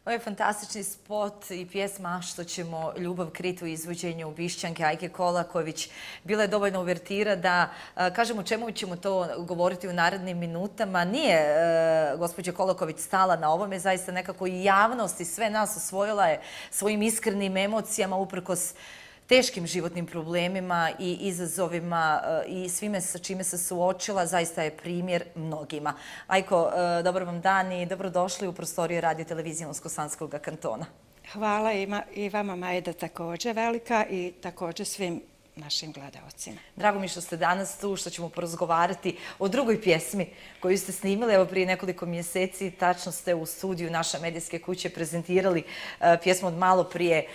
Ovo je fantastični spot i pjesma Što ćemo ljubav kriti u izvođenju Bišćanke Ajke Kolaković. Bila je dovoljno uvertira da kažemo čemu ćemo to govoriti u narednim minutama. Nije gospođa Kolaković stala na ovome, zaista nekako i javnost i sve nas osvojila je svojim iskrenim emocijama uprkos teškim životnim problemima i izazovima i svime sa čime se suočila, zaista je primjer mnogima. Ajko, dobar vam dan i dobrodošli u prostoriju Radio televizije Unsko-Sanskog kantona. Hvala i vama, Majda, također velika i također svim našim gledaocima. Drago mi što ste danas tu, što ćemo porazgovarati o drugoj pjesmi koju ste snimili. Evo prije nekoliko mjeseci tačno ste u studiju naše medijske kuće prezentirali pjesmu od malo prije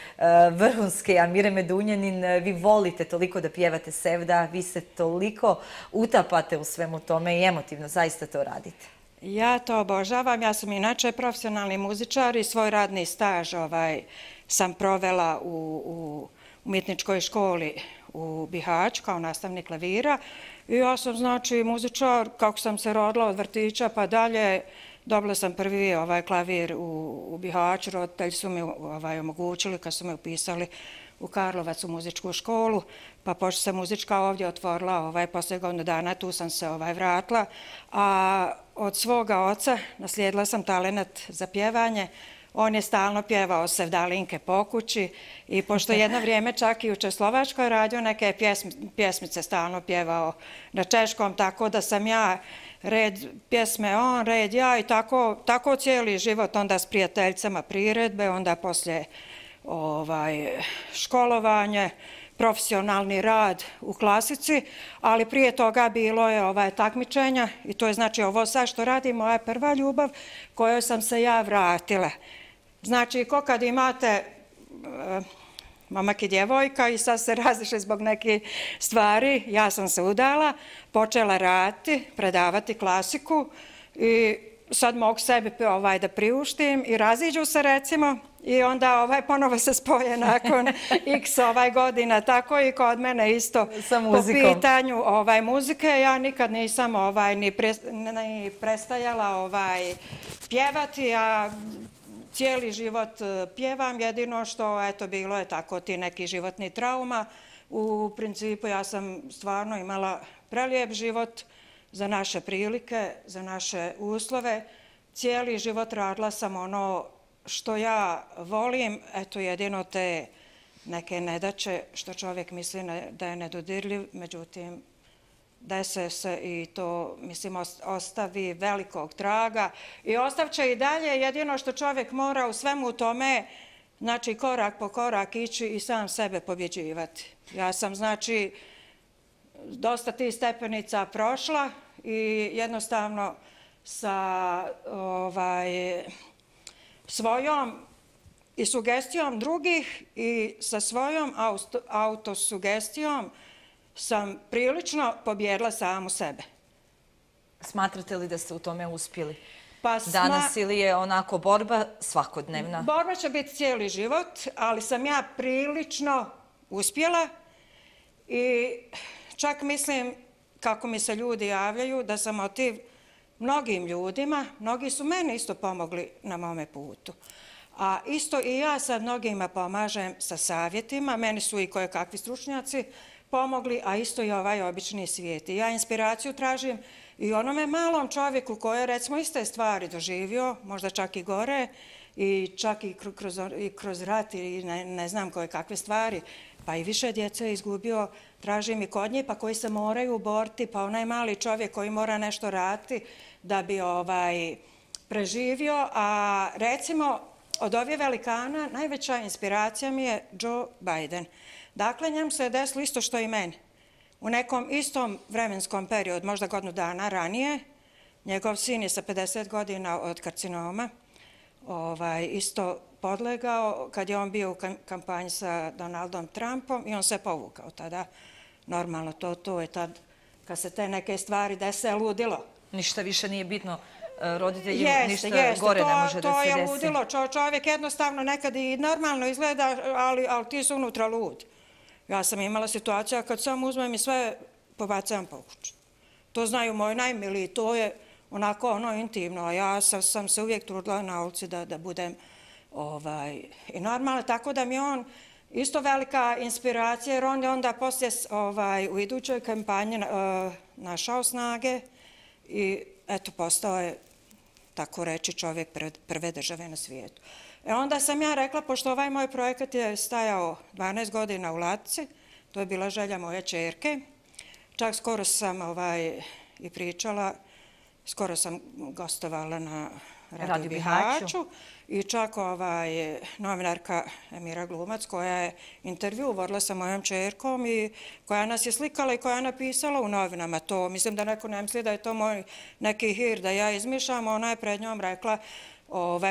vrhunske Amire Medunjanin. Vi volite toliko da pjevate Sevda, vi se toliko utapate u svemu tome i emotivno zaista to radite. Ja to obožavam. Ja sam inače profesionalni muzičar i svoj radni staž sam provela u umjetničkoj školi u Bihaću kao nastavnik klavira. I ja sam znači muzičar, kako sam se rodila od vrtića pa dalje, dobila sam prvi klavir u Bihaću. Roditelji su mi omogućili kad su me upisali u Karlovac u muzičku školu, pa pošto se muzička ovdje otvorila poslije godinu dana, tu sam se vratila. A od svoga oca naslijedila sam talenat za pjevanje. On je stalno pjevao sevdalinke po kući i pošto jedno vrijeme čak i u Češslovačkoj radio neke pjesmice stalno pjevao na češkom, tako da sam ja red pjesme on, red ja i tako cijeli život, onda s prijateljicama priredbe, onda poslije školovanje, profesionalni rad u klasici, ali prije toga bilo je takmičenja i to je znači ovo sad što radim, moja prva ljubav kojoj sam se ja vratila. Znači, ko kad imate momak i djevojka i sad se razišli zbog nekih stvari, ja sam se udala, počela raditi, predavati klasiku i sad mogu sebi da priuštim i raziđu se recimo i onda ponovo se spoje nakon x godina, tako i kod mene isto po pitanju muzike. Ja nikad nisam ni prestajala pjevati, a cijeli život pjevam, jedino što bilo je tako ti neki životni trauma. U principu ja sam stvarno imala prelijep život za naše prilike, za naše uslove. Cijeli život radila sam ono što ja volim, jedino te neke nedaće što čovjek misli da je nedodirljiv, međutim dese se i to, mislim, ostavi velikog traga i ostavće i dalje. Jedino što čovjek mora u svemu tome, znači korak po korak ići i sam sebe pobjeđivati. Ja sam, znači, dosta tih stepenica prošla i jednostavno sa svojom i sugestijom drugih i sa svojom autosugestijom sam prilično pobjedila samu sebe. Smatrate li da ste u tome uspjeli danas ili je onako borba svakodnevna? Borba će biti cijeli život, ali sam ja prilično uspjela i čak mislim, kako mi se ljudi javljaju, da sam motiv mnogim ljudima, mnogi su meni isto pomogli na mome putu. A isto i ja sad mnogima pomažem sa savjetima, meni su i kojekakvi stručnjaci pomogli, a isto i ovaj obični svijet. I ja inspiraciju tražim i onome malom čovjeku koji je recimo iste stvari doživio, možda čak i gore, i čak i kroz rat i ne znam kakve stvari, pa i više djece je izgubio, tražim i kod njih, pa koji se moraju boriti, pa onaj mali čovjek koji mora nešto raditi da bi preživio. A recimo od ovih velikana najveća inspiracija mi je Joe Biden. Dakle, njemu se je desilo isto što i meni. U nekom istom vremenskom periodu, možda godinu dana ranije, njegov sin je sa 50 godina od karcinoma isto podlegao kad je on bio u kampanji sa Donaldom Trumpom i on se povukao tada. Normalno, to je tad kad se te neke stvari dese ludilo. Ništa više nije bitno roditeljima, ništa gore ne može da se desi. To je ludilo. Čovjek jednostavno nekad i normalno izgleda, ali ti su unutra lud. Ja sam imala situacija kad sam uzmem i sve pobacam po kuću. To znaju moji najmiliji, to je onako intimno, a ja sam se uvijek trudila na ulici da budem I normalno, tako da mi je on isto velika inspiracija, jer on je onda poslije u idućoj kampanji našao snage i eto, postao je, tako reći, čovjek prve države na svijetu. Onda sam ja rekla, pošto ovaj moj projekat je stajao 12 godina u ladici, to je bila želja moje ćerke, čak skoro sam i pričala, skoro sam gostovala na Radio Bihaću i čak novinarka Emira Glumac koja je intervju vodila sa mojom ćerkom i koja nas je slikala i koja je napisala u novinama to. Mislim da neko ne misli da je to moj neki hir da ja izmišljam. Ona je pred njom rekla,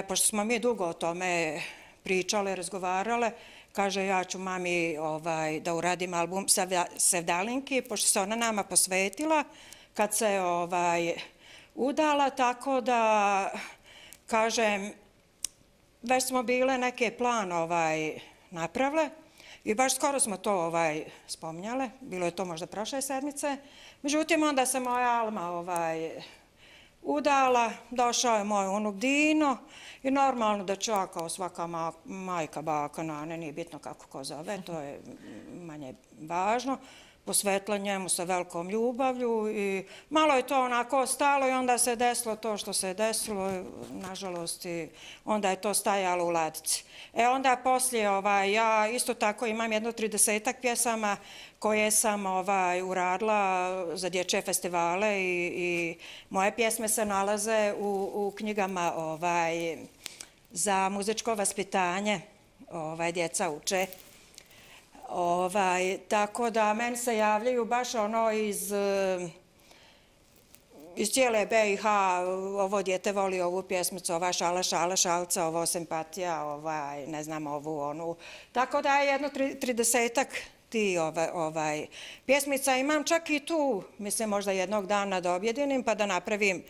pošto smo mi dugo o tome pričale, razgovarale, kaže ja ću mami da uradim album Sevdalinki, pošto se ona nama posvetila kad se udala, tako da, kažem, već smo bile neke plan napravile i baš skoro smo to spominjale, bilo je to možda prošle sedmice. Međutim, onda se moja Alma udala, došao je moj unuk Dino i normalno da ću ja kao svaka majka, baka, nane, nije bitno kako ko zove, to je manje važno, posvetila njemu sa velikom ljubavlju i malo je to onako stalo i onda se desilo to što se desilo, nažalost, i onda je to stajalo u ladici. Onda poslije ja isto tako imam jedno 30-ak pjesama koje sam uradila za dječje festivale i moje pjesme se nalaze u knjigama za muzičko vaspitanje, djeca uče. Tako da meni se javljaju baš ono iz cijele BiH, ovo djete voli ovu pjesmicu, ova šala, šala, šalca, ovo simpatija, ne znam, ovu, onu. Tako da je jedno 30-ak ti pjesmica. Imam čak i tu, mislim možda jednog dana da objedinim pa da napravim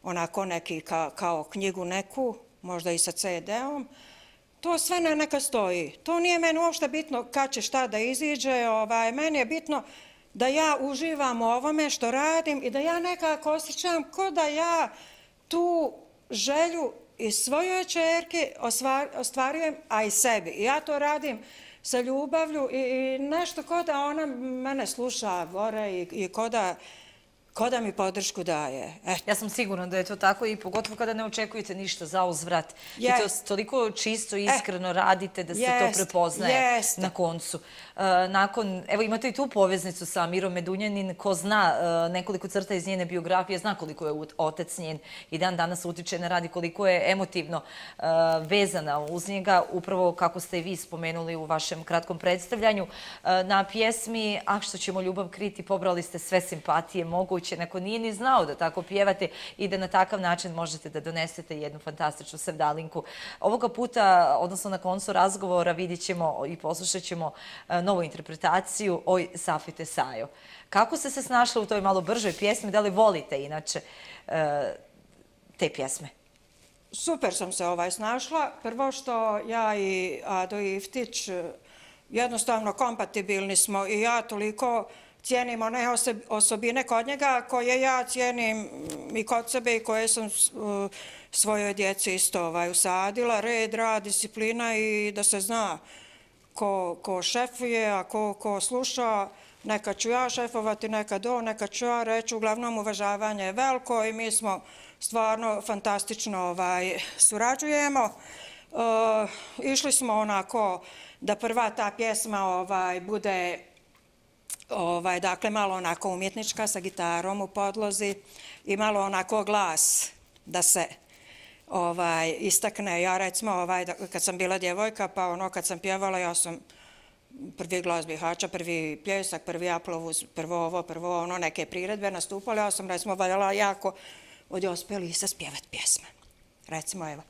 onako neki kao knjigu neku, možda i sa CD-om. To sve neka stoji. To nije meni uopšte bitno kad će šta da iziđe. Meni je bitno da ja uživam u ovome što radim i da ja nekako osjećam ko da ja tu želju i svojoj ćerki ostvarujem, a i sebi. I ja to radim sa ljubavlju i nešto ko da ona mene sluša gore i ko da mi podršku daje. Ja sam sigurna da je to tako i pogotovo kada ne očekujete ništa za uzvrat. I to toliko čisto i iskreno radite da se to prepoznaje na koncu. Evo imate i tu poveznicu sa Mirom Medunjanin, ko zna nekoliko crta iz njene biografije, zna koliko je otac njen i dan danas utiče na rad i koliko je emotivno vezana uz njega, upravo kako ste i vi spomenuli u vašem kratkom predstavljanju. Na pjesmi "Ah, što ćemo ljubav kriti" pobrali ste sve simpatije moguće, neko nije ni znao da tako pjevate i da na takav način možete da donesete jednu fantastičnu sevdalinku. Ovoga puta, odnosno na koncu razgovora, vidjet ćemo i poslušat ćemo novu interpretaciju "Oj, Safite Sajo". Kako ste se snašli u toj malo bržoj pjesmi? Da li volite inače te pjesme? Super sam se snašla. Prvo što ja i Ado Iftić jednostavno kompatibilni smo i ja toliko cijenim one osobine kod njega koje ja cijenim i kod sebe i koje sam svojoj djeci isto usadila. Red, rad, disciplina i da se zna ko šefuje, a ko sluša. Neka ću ja šefovati, neka ću ja reći. Uglavnom uvažavanje je veliko i mi smo stvarno fantastično surađujemo. Išli smo onako da prva ta pjesma bude dakle malo onako umjetnička sa gitarom u podlozi i malo onako glas da se istakne. Ja recimo kad sam bila djevojka pa kad sam pjevala ja sam prvi Glas Bihaća, prvi Pljesak, prvi Aplovuz, prvo ovo, neke priredbe nastupale. Ja sam recimo valjala jako od Josipe Lisa spjevat pjesme. Recimo evo.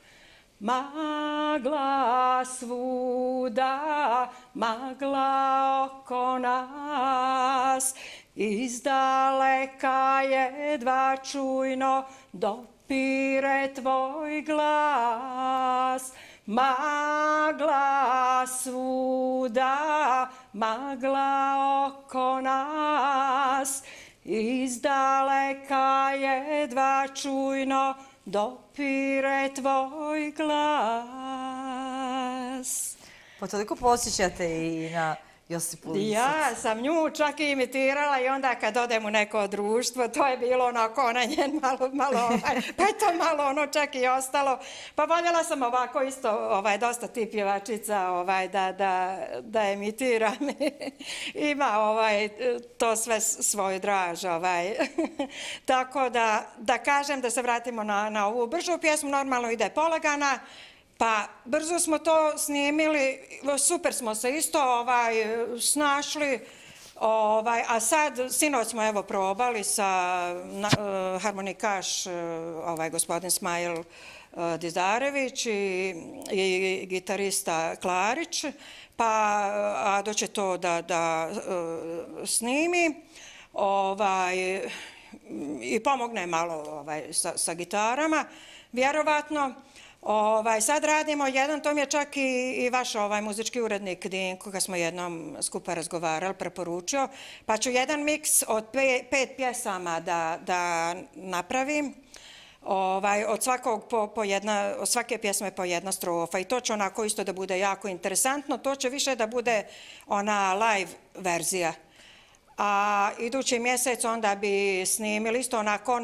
Magla svuda, magla oko nas, izdaleka jedva čujno dopire tvoj glas. Magla svuda, magla oko nas, izdaleka jedva čujno dopire tvoj glas. Pa toliko posjećate i na Josipu Lisac. Ja sam nju čak i imitirala i onda kad odem u neko društvo, to je bilo onako ona njen malo, pa je to malo ono čak i ostalo. Pa voljela sam ovako isto, dosta tih pjevačica da imitiram. Ima to sve svoju draž. Tako da kažem da se vratimo na ovu bržu pjesmu, normalno ide polagana. Pa brzo smo to snimili, super smo se isto snašli, a sad, sinoć smo evo probali sa harmonikaš, gospodin Smajl Dizarević i gitarista Klarić, pa Ado će to da snimi i pomogne malo sa gitarama, vjerovatno. Sad radimo jedan, to mi je čak i vaš muzički urednik Dinko, koga smo jednom skupa razgovarali, preporučio, pa ću jedan miks od 5 pjesama da napravim. Od svake pjesme po jedna strofa i to će onako isto da bude jako interesantno, to će više da bude ona live verzija. A idući mjesec onda bi snimili isto onako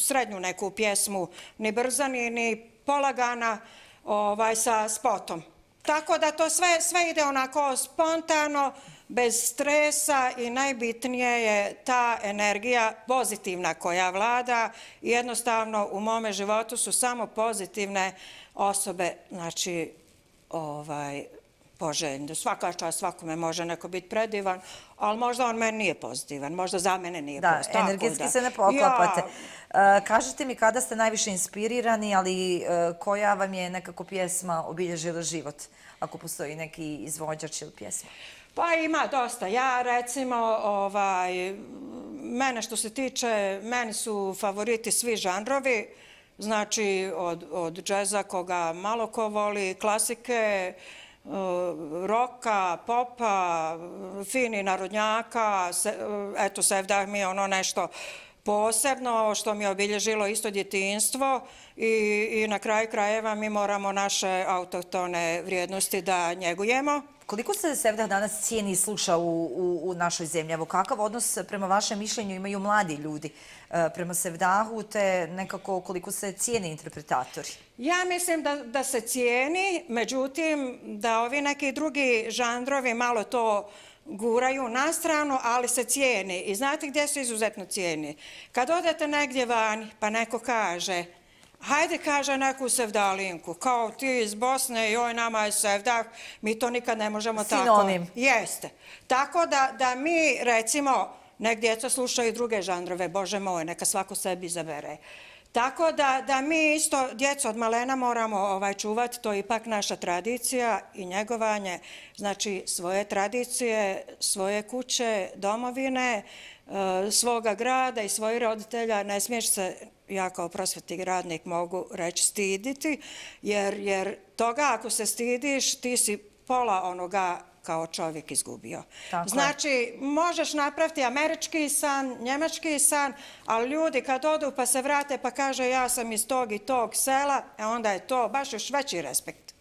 srednju neku pjesmu, ni brza, ni polagana, sa spotom. Tako da to sve ide onako spontano, bez stresa i najbitnije je ta energija pozitivna koja vlada. Jednostavno u mome životu su samo pozitivne osobe, znači poželjni. Svaka čast svakome može neko biti predivan, ali možda on meni nije pozitivan, možda za mene nije pozitivan. Da, energetski se ne poklapate. Kažite mi kada ste najviše inspirirani, ali koja vam je nekako pjesma obilježila život, ako postoji neki izvođač ili pjesma? Pa ima dosta. Ja recimo, mene što se tiče, meni su favoriti svi žanrovi, znači od džeza koga malo ko voli, klasike, roka, popa, fini narodnjaka, eto Sevdah mi je ono nešto posebno što mi je obilježilo isto djetinjstvo i na kraju krajeva mi moramo naše autohtone vrijednosti da njegujemo. Koliko se Sevdah danas cijeni i sluša u našoj zemlji? Evo, kakav odnos prema vašem mišljenju imaju mladi ljudi prema Sevdahu, te nekako koliko se cijeni interpretatori? Ja mislim da se cijeni, međutim da ovi neki drugi žanrovi malo to guraju na stranu, ali se cijeni. I znate gdje se izuzetno cijeni? Kad odete negdje vani pa neko kaže, hajde kaže neku sevdalinku, kao ti iz Bosne, joj nama je Sevdah, mi to nikad ne možemo tako. Sinonim. Jeste. Tako da mi recimo, nek djeca slušaju druge žanrove, Bože moj, neka svako sebi izabere. Tako da mi isto, djeco od malena moramo čuvati, to je ipak naša tradicija i njegovanje, znači svoje tradicije, svoje kuće, domovine, svoga grada i svojih roditelja. Ne smiješ se, ja kao prosvetni radnik mogu reći, stiditi, jer toga ako se stidiš, ti si pola onoga kao čovjek izgubio. Znači, možeš napraviti američki san, njemački san, ali ljudi kad odu pa se vrate pa kaže ja sam iz tog i tog sela, onda je to baš još veći respekt.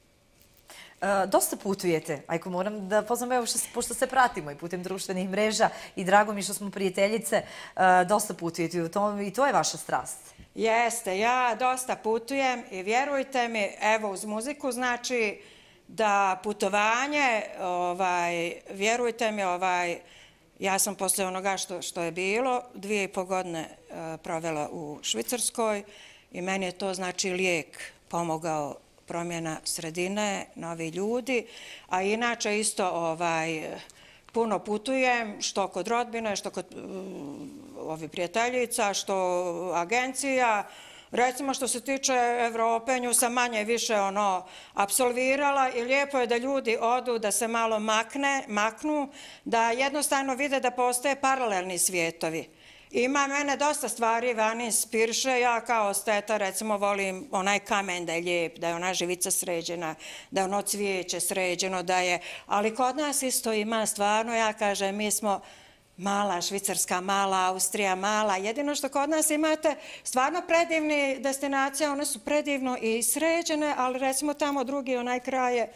Dosta putujete, Ajko, moram da poznam, evo, pošto se pratimo i putem društvenih mreža i drago mi što smo prijateljice, dosta putujete i to je vaša strast. Jeste, ja dosta putujem i vjerujte mi, evo uz muziku znači da putovanje, vjerujte mi, ja sam poslije onoga što je bilo 2,5 godine provela u Švicarskoj i meni je to znači lijek pomogao, promjena sredine, novi ljudi, a inače isto puno putujem, što kod rodbine, što kod prijateljica, što agencija. Recimo što se tiče Evrope, nju sam manje više apsolvirala i lijepo je da ljudi odu, da se malo maknu, da jednostavno vide da postoje paralelni svijetovi. Ima mene dosta stvari vani inspiriše, ja kao esteta recimo volim onaj kamen da je lijep, da je ona živica sređena, da je ono cvijeće sređeno, da je, ali kod nas isto ima stvarno, ja kažem, mi smo mala Švicarska, mala Austrija, mala. Jedino što kod nas imate stvarno predivni destinacije, one su predivno i sređene, ali recimo tamo drugi onaj kraj je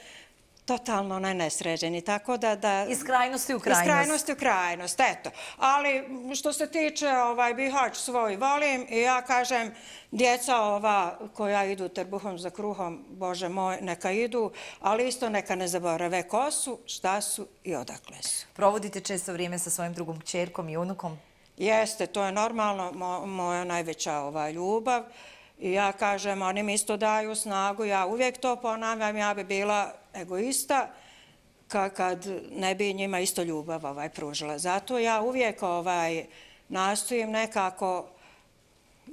totalno nesređeni, tako da... Iz krajnosti u krajnost. Iz krajnosti u krajnost, eto. Ali što se tiče Bihać svoj volim i ja kažem, djeca ova koja idu trbuhom za kruhom, Bože moj, neka idu, ali isto neka ne zaborave ko su, šta su i odakle su. Provodite često vrijeme sa svojim drugom kćerkom i unukom? Jeste, to je normalno, moja najveća ljubav. I ja kažem, oni mi isto daju snagu, ja uvijek to ponavljam, ja bi bila egoista kad ne bi njima isto ljubav pružila. Zato ja uvijek nastojim nekako,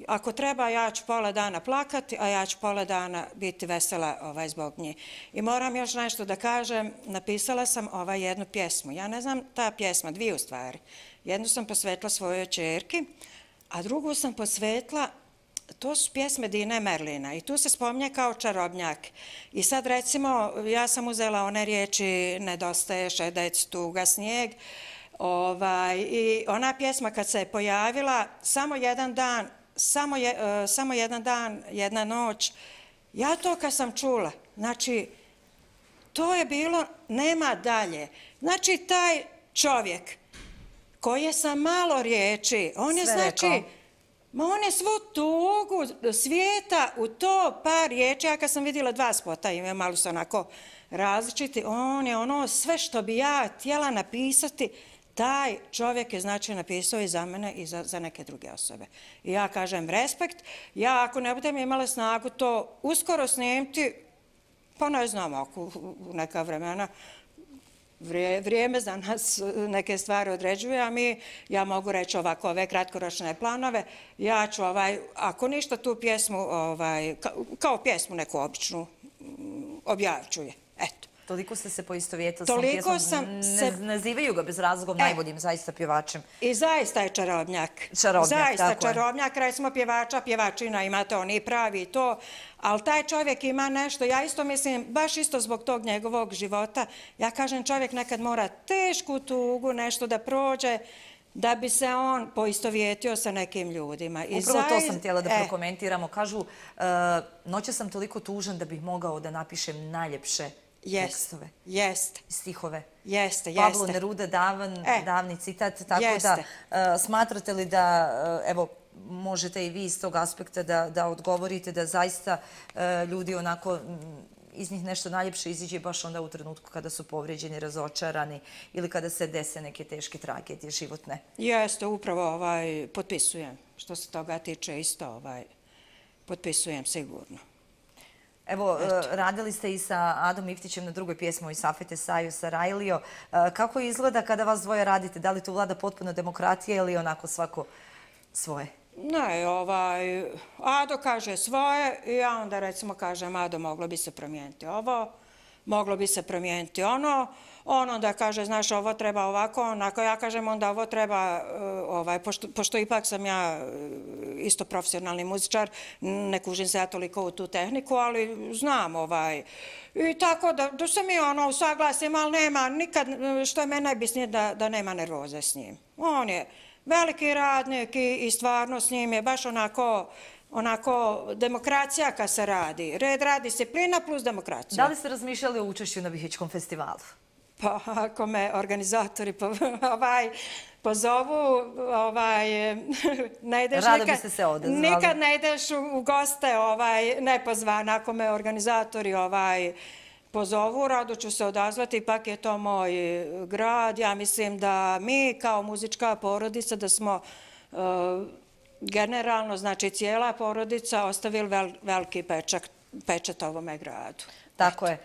ako treba ja ću pola dana plakati, a ja ću pola dana biti vesela zbog njih. I moram još nešto da kažem, napisala sam jednu pjesmu. Ja ne znam ta pjesma, dvije u stvari. Jednu sam posvetila svojoj ćerki, a drugu sam posvetila. To su pjesme Dine Merlina i tu se spominje kao čarobnjak. I sad recimo, ja sam uzela one riječi Nedostaje šedec, tuga, snijeg. I ona pjesma kad se je pojavila, samo jedan dan, jedna noć, ja to kad sam čula, znači, to je bilo, nema dalje. Znači, taj čovjek koji je sa malo riječi, on je znači... On je svu tugu svijeta u to par riječi. Ja kad sam vidjela dva spota, ima malo su onako različiti, on je ono sve što bi ja htjela napisati, taj čovjek je znači napisao i za mene i za neke druge osobe. I ja kažem respekt. Ja ako ne budem imala snagu to uskoro snimiti, pa ne znam ako u neka vremena, vrijeme za nas neke stvari određuje, a ja mogu reći ovako, ove kratkoročne planove, ja ću ako ništa tu pjesmu, kao pjesmu neku običnu, objavit ću je. Eto. Toliko ste se poistovjetili s tom pjesmom, nazivaju ga bez razloga najboljim zaista pjevačem. I zaista je čarobnjak. Zaista čarobnjak, recimo pjevača, pjevačina, imate oni pravi i to, ali taj čovjek ima nešto, ja isto mislim, baš isto zbog tog njegovog života, ja kažem čovjek nekad mora tešku tugu nešto da prođe, da bi se on poistovjetio sa nekim ljudima. Upravo to sam htjela da prokomentiramo. Kažu, noće sam toliko tužan da bih mogao da napišem najljepše tekstove, stihove. Pablo Neruda, davni citat, tako da smatrate li da, evo, možete i vi iz tog aspekta da odgovorite da zaista ljudi onako iz njih nešto najljepše iziđe baš onda u trenutku kada su povrijeđeni, razočarani ili kada se dese neke teške tragedije životne? Jeste, upravo potpisujem. Što se toga tiče isto, potpisujem sigurno. Evo, radili ste i sa Adom Iftićem na drugoj pjesmu i Safete Saju Sarajlio. Kako izgleda kada vas dvoje radite? Da li tu vlada potpuno demokratija ili onako svako svoje? Ne, Ado kaže svoje i ja onda recimo kažem Ado moglo bi se promijeniti ovo, moglo bi se promijeniti ono, on onda kaže znaš ovo treba ovako, onako ja kažem onda ovo treba, pošto ipak sam ja isto profesionalni muzičar, ne kužim se ja toliko u tu tehniku, ali znam i tako da se mi usaglasim, ali nema nikad, što je meni najbitnije da nema nervoze s njim. On je veliki radnik i stvarno s njim je baš onako demokracija kad se radi. Red, rad, disciplina plus demokracija. Da li ste razmišljali o učešću na Bihićkom festivalu? Pa ako me organizatori pozovu, rado biste se odazvali. Nikad ne ideš u goste nepozvan. Ako me organizatori pozovu, rado ću se odazvati, ipak je to moj grad. Ja mislim da mi kao muzička porodica da smo generalno, znači cijela porodica, ostavili veliki pečat ovome gradu. Tako je.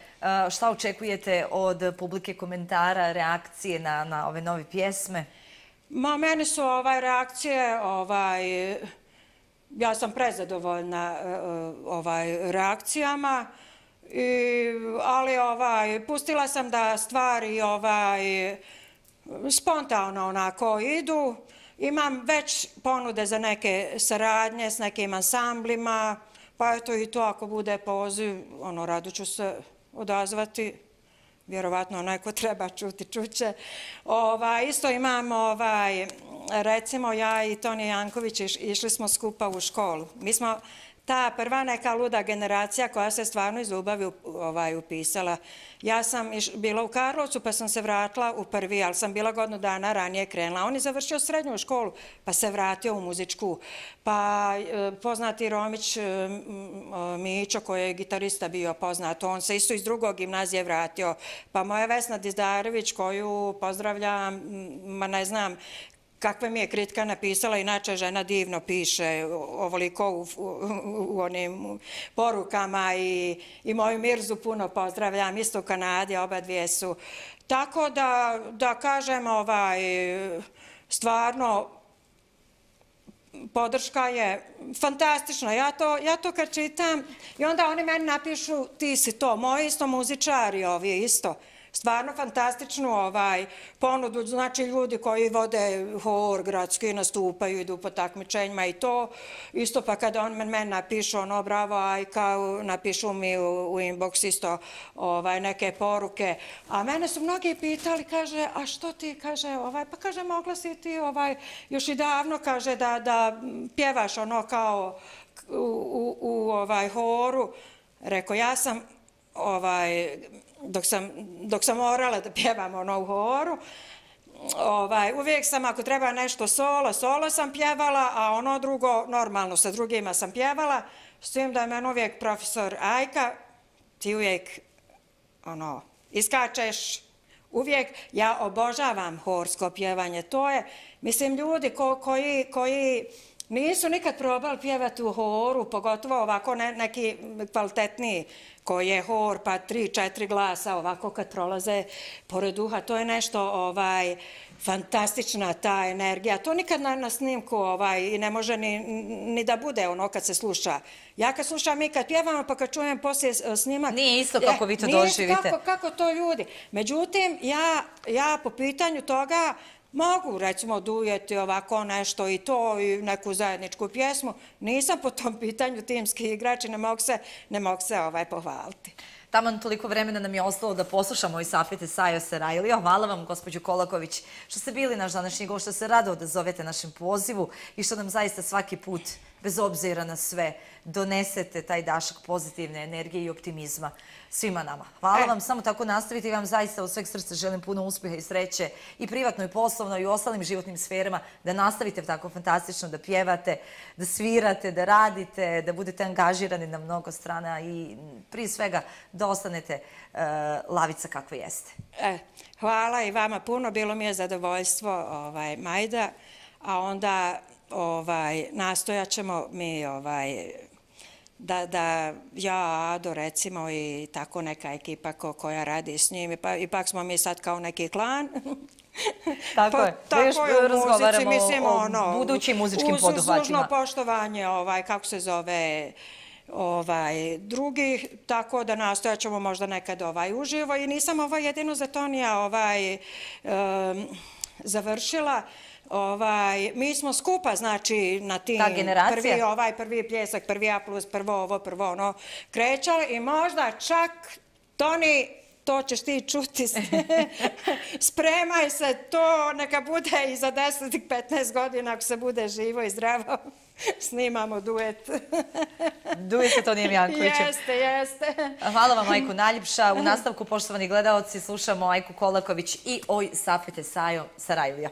Šta očekujete od publike, komentara, reakcije na ove nove pjesme? Meni su reakcije, ja sam prezadovoljna reakcijama, ali pustila sam da stvari spontano onako idu. Imam već ponude za neke saradnje s nekim ansamblima, pa eto i to ako bude poziv, rado ću se odazvati. Vjerovatno onaj ko treba čuti, čuće. Isto imam, recimo ja i Tonija Janković išli smo skupa u školu. Mi smo ta prva neka luda generacija koja se stvarno iz ljubavi upisala. Ja sam bila u Karlovcu pa sam se vratila u prvi, ali sam bila godinu dana ranije krenula. On je završio srednju školu pa se vratio u muzičku. Pa poznati Romić Mićo koji je gitarista bio poznat, on se isto iz drugog gimnazije vratio. Pa moja Vesna Dizdarević koju pozdravljam, ma ne znam kakve mi je kritika napisala, inače žena divno piše, ovoliko u onim porukama i moju Mirzu puno pozdravljam, isto u Kanadi, oba dvije su. Tako da kažem, stvarno, podrška je fantastična. Ja to kad čitam i onda oni meni napišu ti si to, moji isto muzičari ovi isto. Stvarno fantastičnu ponudu, znači ljudi koji vode hor, gradski, nastupaju, idu po takmičenjima i to. Isto pa kada on meni napišu ono bravo Ajka, napišu mi u inbox isto neke poruke. A mene su mnogi pitali, kaže, a što ti, kaže, pa kaže, mogla si ti još i davno, kaže, da pjevaš ono kao u horu. Rekao, ja sam dok sam morala da pjevam ono u horu, uvijek sam, ako treba nešto solo sam pjevala, a ono drugo, normalno, sa drugima sam pjevala, s tim da je meni uvijek profesor Ajka, ti uvijek, iskačeš, uvijek, ja obožavam horsko pjevanje, to je, mislim, ljudi koji nisu nikad probali pjevati u horu, pogotovo ovako neki kvalitetniji koji je hor, pa 3-4 glasa ovako kad prolaze pored uha. To je nešto fantastična ta energija. To nikad na snimku i ne može ni da bude ono kad se sluša. Ja kad slušam i kad pjevamo pa kad čujem poslije snimak... Nije isto kako vi to doživite. Nije kako to ljudi. Međutim, ja po pitanju toga mogu, recimo, dujeti ovako nešto i to, i neku zajedničku pjesmu. Nisam po tom pitanju timski igrač i ne mogu se pohvaliti. Taman toliko vremena nam je ostalo da poslušamo i Safete Sajo Sarajlija. Hvala vam, gospođo Kolaković, što ste bili naš današnji gost, što se rado odazovete našem pozivu i što nam zaista svaki put, bez obzira na sve, donesete taj dašak pozitivne energije i optimizma svima nama. Hvala vam, samo tako nastavite i vam zaista od sveg srca želim puno uspjeha i sreće i privatno i poslovno i u ostalim životnim sferama, da nastavite tako fantastično da pjevate, da svirate, da radite, da budete angažirani na mnogo strana i prije svega da ostanete lavica kakva jeste. Hvala i vama puno, bilo mi je zadovoljstvo, Majda, a onda nastojat ćemo mi da ja, Ado, recimo, i tako neka ekipa koja radi s njim, ipak smo mi sad kao neki klan. Tako je, da još razgovaramo o budućim muzičkim poduhvatima. Uz služno poštovanje, kako se zove, drugih, tako da nastojat ćemo možda nekad uživo. I nisam jedino za Tonija završila. Mi smo skupa, znači, na tim prvi pljesak, prvi A plus, prvo ovo, prvo ono, krećali i možda čak, Toni, to ćeš ti čuti, spremaj se, to neka bude i za 10-15 godina, ako se bude živo i zdravo, snimamo duet. Duet sa Tonijem Jankovićem. Jeste. Hvala vam, Ajko, najljepša. U nastavku, poštovani gledaoci, slušamo Ajku Kolaković i Oj Safete Sajo Sarajlija.